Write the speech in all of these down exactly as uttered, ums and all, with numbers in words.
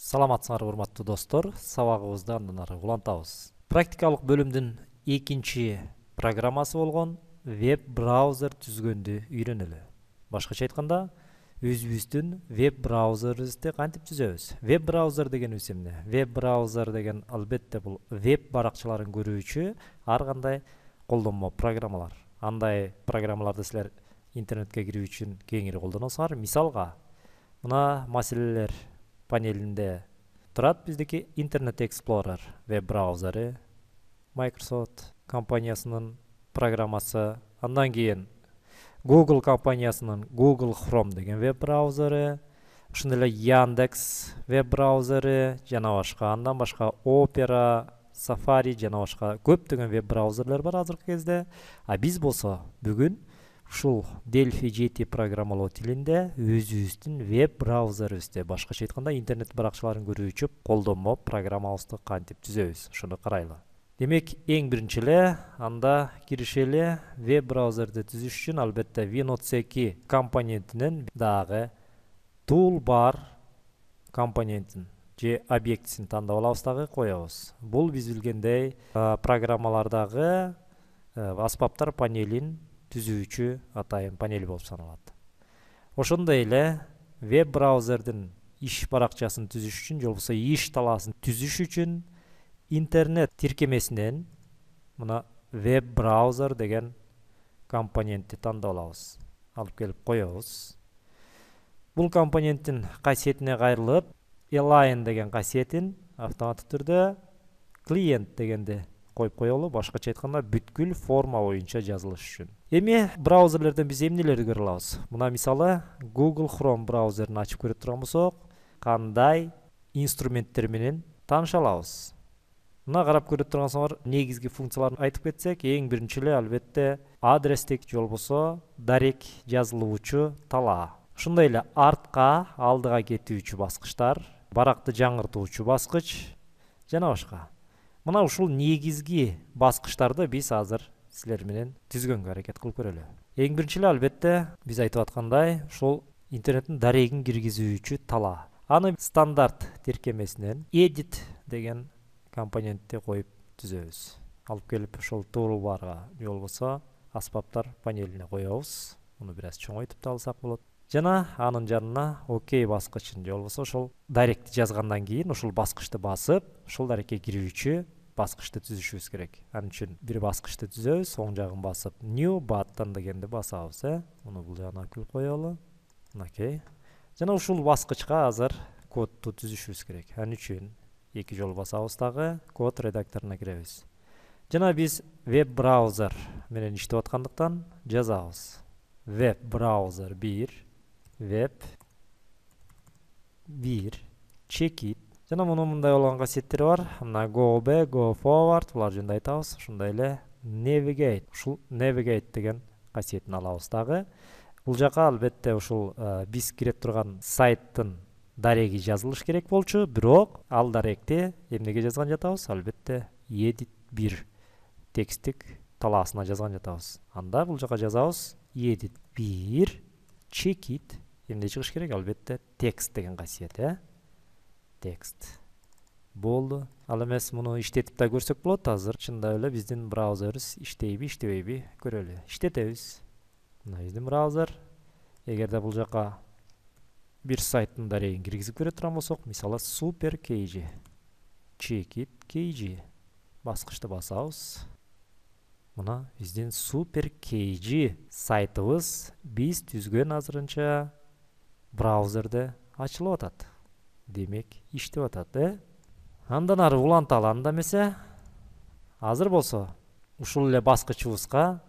Саламатсыңар урматтуу достор, сабагыбызды андан ары улантабыз. Практикалык бөлүмдүн экинчи программасы болгон веб-браузер түзгөндү үйрөнөлү. Башкача айтканда, өзүбүздүн веб-браузерибизди кантип түзөбүз? Веб-браузер дегенибиз эмне? Веб-браузер деген албетте бул веб баракчаларын көрүүчү ар кандай колдонмо программалар. Андай программаларды силер интернетке кирүү үчүн кеңири колдоносуңар. Мисалга, мына маселелер панелинде турат биздики Internet Explorer веб-браузери, Microsoft компаниясынын программасы, андан кийин Google компаниясынын Google Chrome деген веб-браузери, ошондой эле Яндекс веб-браузери жана башка, андан башка Opera, Safari жана башка көптөгөн веб-браузерлер бар азыркы кезде. А биз болсо бүгүн ушул Delphi жети программалоо тилинде өзүбүздүн веб-браузерибизди, башкача айтканда интернет баракчаларын көрүүчү колдонмо программабызды кантип түзөбүз, ошону карайлы. Демек, эң биринчи эле анда киришели. Веб-браузерди түзүш үчүн албетте Windows эки компонентинен дагы toolbar компонентин же объектисин тандап алабыз дагы коебуз. Бул биз билгендей программалардагы аспаптар панелин түзүүчү атайын панел болуп саналат. Ошондой эле веб-браузердин иш баракчасын түзүш үчүн, же болбосо иш талаасын түзүш үчүн интернет тиркемесинен мына веб-браузер деген компонентти тандап алабыз. Алып келип коебуз. Бул компоненттин касиетине кайрылып, align деген касиетин автоматтык түрдө клиент дегенди коюп коелу, башкача айтканда бүткүл форма боюнча жазылыш үчүн. Эми браузерлерден биз эмнелерди көрө алабыз? Мына мисалы Google Chrome браузерин ачып көрө турган болсок, кандай инструменттер менен тааныша алабыз? Мына карап көрө тургансыңар, негизги функцияларын айтып кетсек, эң биринчи эле албетте адрестик же болбосо дарек жазылуучу талаа. Ошондой эле артка, алдыга кетүүчү баскычтар, баракты жаңыртуучу баскыч жана башка. Мына ушул негизги баскычтарды биз азыр силер менен түзгөнгө аракет кылып көрөлү. Эң биринчи эле албетте биз айтып аткандай, ушул интернеттин дарегин киргизүүчү талаа. Аны стандарт тиркемесинен edit деген компонентти коюп түзөбүз. Алып келип ушул toolbarга же болбосо аспаптар панелине коебуз. Муну бир аз чоңойтуп да алсак болот. Жана анын жанына OK баскычын же болбосо ошол даректи жазгандан кийин ушул баскычты басып, ушул дарекке кирүүчү баскычты түзүшүбүз керек. Анын үчүн бир баскычты түзөбүз, оң жагын басып new button дегенди басабыз, э? Муну бул жагына алып келип коелу. Окей. Жана ушул баскычка азыр кодду түзүшүбүз керек. Анын үчүн эки жолу басабыз дагы, код редакторуна киребиз. Жана биз веб-браузер менен иштеп аткандыктан жазабыз. Веб-браузер бир, веб бир, checkit. Жана мунун мындай болгон касиеттери бар. Мына go back, go forward, булар жөнүндө айтабыз. Ошондой эле navigate. Ушул navigate деген касиетин алабыз дагы. Бул жака албетте ушул биз кире турган сайттын дареги жазылыш керек болчу, бирок ал даректи эмнеге жазган жатабыз? Албетте edit бир текстик талаасына жазган жатабыз. Анда бул жака жазабыз edit бир, checkit. Эмне чыгыш керек? Албетте текст деген касиет, э? Текст. Болду. Ал эмес муну иштетип да көрсөк болот. Азыр чындап эле биздин браузерибиз иштейби, иштебейби көрөлү. Иштетебиз. Мына биздин браузер. Эгерде бул жака бир сайттын дарегин киргизип көрө турган болсок, мисалы SuperKG, checkit kg баскычты басабыз. Мына биздин SuperKG сайтыбыз биз түзгөн азырынча браузерде ачылып атат. Демек, иштеп атат, э? Андан ары уланталы анда эмесе. Азыр болсо ушул эле баскычыбызга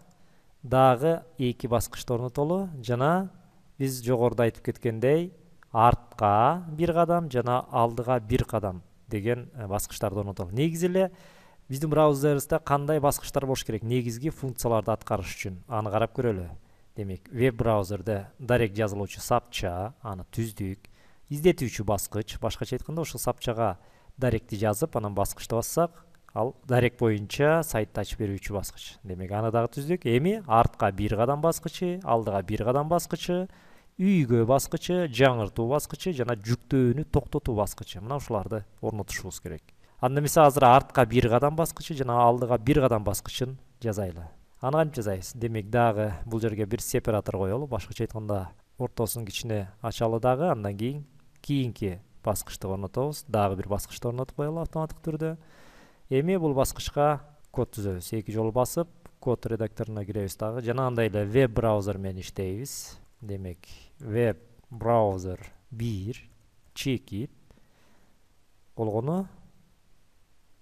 дагы эки баскычты орнотолу. Жана биз жогоруда айтып кеткендей, артка бир кадам жана алдыга бир кадам деген баскычтарды орнотолу. Негизи эле биздин браузерибизде кандай баскычтар болуш керек? Негизги функцияларды аткарыш үчүн аны карап көрөлү. Демек, веб-браузерде дарек жазылуучу сапча, аны түздүк. Издетүүчү баскыч, башкача айтканда ошол сапчага даректи жазып, анан баскычты бассак, ал дарек боюнча сайтты ачып берүүчү баскыч. Демек, аны дагы түздүк. Эми артка бир кадам баскычы, алдыга бир кадам баскычы, үйгө баскычы, жаңыртуу баскычы жана жүктөөнү токтотуу баскычы. Мына ушуларды орнотушубуз керек. Анда эмесе азыр артка бир кадам баскычы жана алдыга бир кадам баскычын жазайлы. Аны кантип жазайбыз? Демек дагы бул жерге бир сепаратор коелу. Башкача айтканда ортосун кичине ачалы дагы, андан кийин кийинки баскычты орнотобуз. Дагы бир баскычты орнотуп коелу автоматтык түрдө. Эми бул баскычка код түзөбүз. Эки жолу басып, код редакторуна киребиз дагы. Жана андай эле веб браузер менен иштейбиз. Демек, веб браузер бир чекит болгону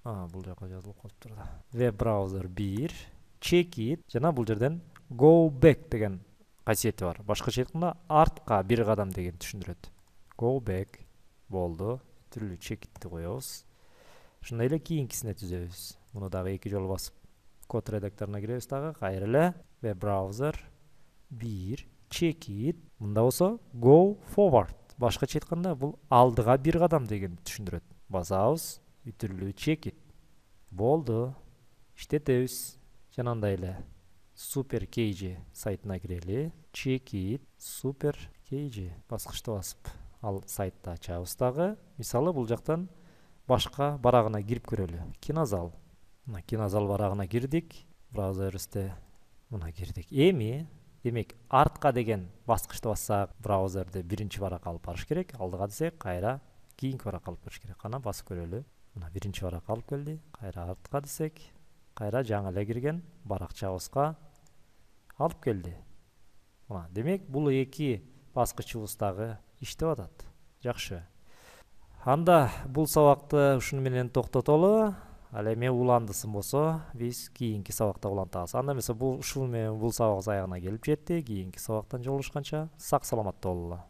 А, бул жака жазылып калыптыр да. Веб браузер бир чекит жана бул жерден go back деген касиети бар. Башкача айтканда артка бир кадам деген түшүндүрөт. Go back болду. Түрлүү чекитти коебуз. Ошондой эле кийинкисине түзөбүз. Муну дагы эки жолу басып код редакторуна киребиз дагы. Кайра эле веб браузер бир чекит. Мында болсо go forward. Башкача айтканда бул алдыга бир кадам деген түшүндүрөт. Басабыз, бүтүрлүү чекит. Болду. Иштетебиз. Жана андай эле Super кей джи сайтына кирели. Чекит Super кей джи баскычты басып ал сайтты ачабыз дагы. Мисалы бул жактан башка барагына кирип көрөлү. Кинозал. Мына кинозал барагына кирдик. Браузерибизде мына кирдик. Эми демек артка деген баскычты бассак, браузерде биринчи баракка алып барыш керек. Алдыга десек, кайра кийинки баракка алып барыш керек. Кана басып көрөлү. Мына биринчи баракка алып келди. Кайра артка десек, кайра жаңы эле кирген баракчабызга алып келди. Мына демек бул эки баскычыбыз дагы иштеп атат. Жакшы. Анда бул сабакты ушуну менен токтотолу. Ал эми уландысын болсо, биз кийинки сабакта улантабыз. Анда эмесе бул ушул менен бул сабагыбыз аягына келип жетти. Кийинки сабактан жолугушканча сак саламатта болуңуздар.